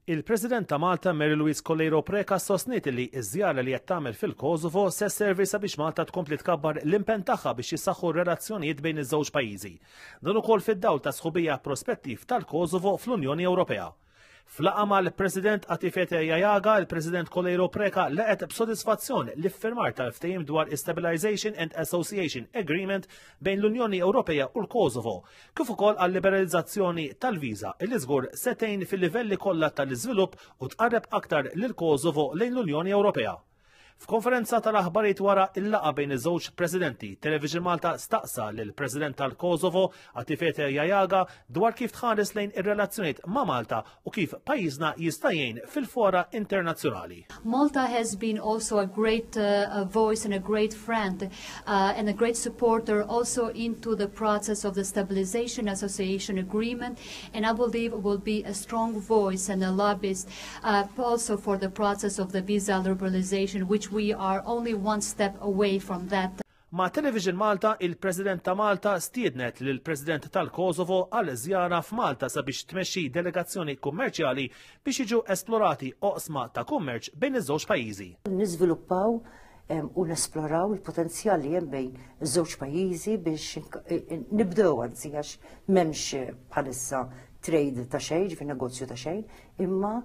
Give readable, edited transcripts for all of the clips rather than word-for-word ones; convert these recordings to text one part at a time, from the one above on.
Il-President ta' Malta Mary Louise Coleiro Preca sostniet li ż-żjara li qed tagħmel fil-Kosovo se sservi sabiex Malta tkompli tkabbar l-impenn tagħha biex jissaħħu r-relazzjonijiet bejn iż-żewġ pajjiżi. Dan ukoll fid-dawl ta' sħubija prospettiv tal-Kosovo fl-Unjoni Ewropea. F'laqgħa mal-President Atifete Jahjaga, il-President Coleiro Preca laqgħet b'sodisfazzjon l-iffirmar tal-ftehim dwar Stabilization and Association Agreement bejn l-Unjoni Ewropea u l-Kosovo, kif ukoll għal-liberalizzazzjoni tal-viża illi żgur se tgħin fil-livelli kollha tal-iżvilupp u tqarreb aktar lil Kosovo lejn l-Unjoni Ewropea. F'konferenza tal-aħbarijiet wara il-laqgħa bejn iż-żewġ presidenti, Television Malta staqsa lil President tal-Kosovo Atifete Jahjaga dwar kif tħares lejn ir-relazzjonijiet ma' Malta u kif pajjiżna jista' jgħin fil-fora internazzjonali. Malta has been also a great uh, voice and a great friend uh, and a great supporter also into the process of the Stabilization Association Agreement and I believe will be a strong voice and a lobbyist uh, also for the process of the visa liberalization which we are only one step away from that. Ma' Television Malta, il-President ta' Malta stiednet lill-President tal-Kosovo għal żjara f'Malta sabiex tmexxi delegazzjoni kummerċjali biex jiġu esplorati oqsma ta' kummerċ bejn iż-żewġ pajjiżi. Niżviluppaw u nesploraw il-potenzjal li hemm bejn iż-żewġ pajjiżi biex nibdew anzi għax m'hemmx bħalissa trade ta' xejn, ġifieri negozju ta' xejn, imma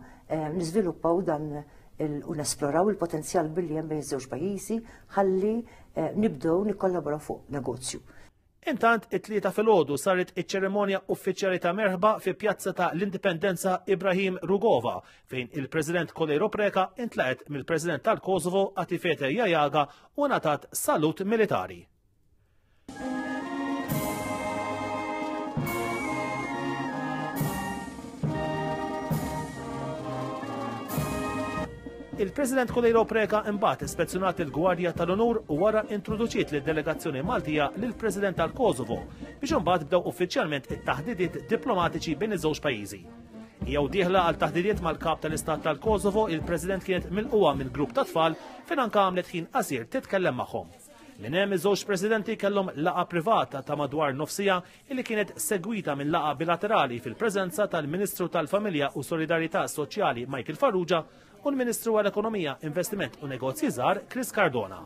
niżviluppaw dan u nesploraw il-potenzjal billi hemm bejn iż-żewġ pajjiżi ħalli eh, nibdew nikkollaboraw fuq negozju. Intant, it-tlieta filgħodu saret iċ-ċerimonja uffiċjali ta' merħba fi pjazza ta' l-Indipendenza Ibrahim Rugova, fejn il-President Coleiro Preca intlaqet mill-President tal-Kosovo Atifete Jahjaga u ngħatat salut militari. Il-President Coleiro Preca imbagħad ispezzjonat il-Gwardja tal-Unur u wara introduċiet lid-delegazzjoni Maltija lill-President tal-Kosovo biex imbagħad bdew uffiċjalment it-taħdidiet diplomatiċi bejn iż-żewġ pajjiżi. Jew dieħla għal taħdidiet mal-kap tal-Istat tal-Kosovo, il-President kienet milquha minn grupp ta' tfal fejn anke għamlet ħin qasir titkellem magħhom. Minn hemm iż-żewġ presidenti kellhom laqgħa privata ta' madwar nofsija illi kienet segwita minn laqgħa bilaterali fil-preżenza tal-Ministru tal-Familja u Solidarjetà Soċjali Michael Farrugia u l-Ministru għall-Ekonomija, Investiment u Negozji Żgħar Chris Cardona.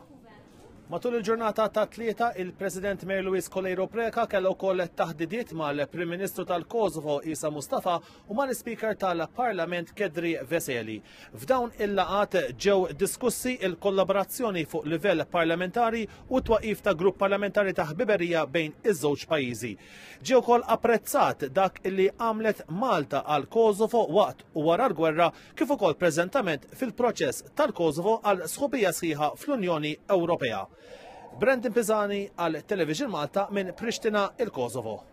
Matul il-ġurnata ta' tlieta, il-President Mary Louise Coleiro Preca kellha wkoll taħdidiet mal-Prim Ministru tal-Kosovo Isa Mustafa u mal-Ispeaker tal-Parlament Kedri Veseli. F'dawn il-laqgħat ġew diskussi il-kollaborazzjoni fuq livell parlamentari u t-twaqif ta' grupp parlamentari ta' ħbiberija bejn iż-żewġ pajjiżi. Ġie wkoll apprezzat dak li għamlet Malta għal Kosovo waqt u wara l-gwerra kif ukoll preżentament fil-proċess tal-Kosovo għal sħubija sħiħa fl-Unjoni Ewropea. Brandon Pisani għal Television Malta minn Pristina il-Kosovo.